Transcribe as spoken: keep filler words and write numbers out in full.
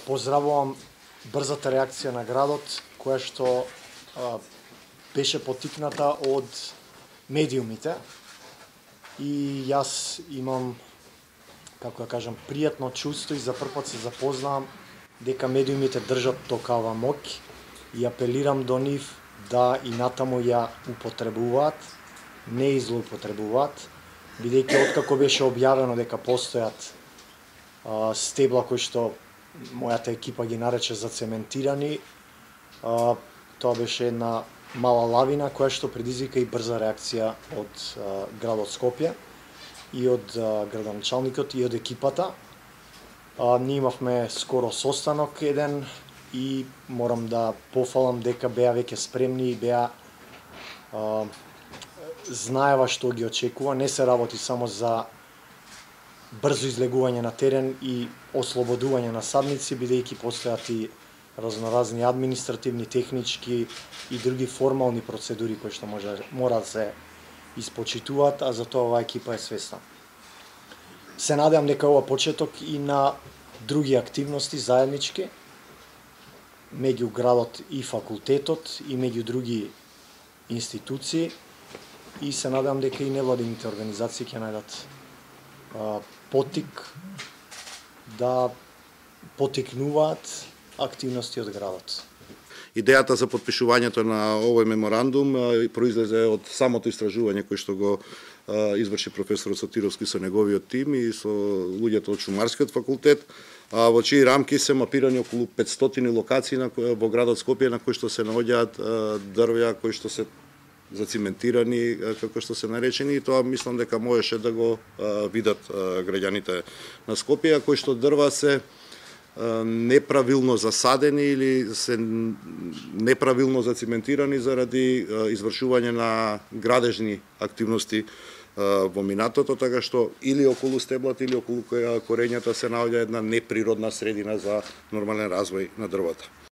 поздравувам брзата реакција на градот, која што а, беше поттикната од медиумите. И јас имам, како да кажам, пријатно чувство и за прв пат се запознавам дека медиумите држат токава моќ и апелирам до нив да и натаму ја употребуваат, не и злоупотребуваат, бидејќи откако беше објавено дека постојат а, стебла кои што мојата екипа ги нарече зацементирани, а, тоа беше една мала лавина која што предизвика и брза реакција од а, градот Скопје и од а, градоначалникот и од екипата. А, ние имавме скоро состанок еден и морам да пофалам дека беа веќе спремни и беа а, знаева што ги очекува. Не се работи само за брзо излегување на терен и ослободување на садници, бидејќи постојат и разноразни административни, технички и други формални процедури кои што може мора да се испочитуваат, а за тоа оваа екипа е свесна. Се надевам дека ова почеток и на други активности заеднички меѓу градот и факултетот и меѓу други институции, и се надевам дека и невладините организации ќе најдат а, поттик да потикнуваат активности од градот. Идејата за подпишувањето на овој меморандум произлезе од самото истражување кој што го изврши професорот Сотировски со неговиот тим и со луѓето од Шумарскиот факултет, во чии рамки се мапирани околу петстотини локации во градот Скопје на кои што се наоѓаат дрвја кои што се зациментирани, како што се наречени, и тоа мислам дека можеше да го видат граѓаните на Скопје, кои што дрва се неправилно засадени или се неправилно зациментирани заради извршување на градежни активности во минатото, така што или околу стеблата или околу корењата се наоѓа една неприродна средина за нормален развој на дрвата.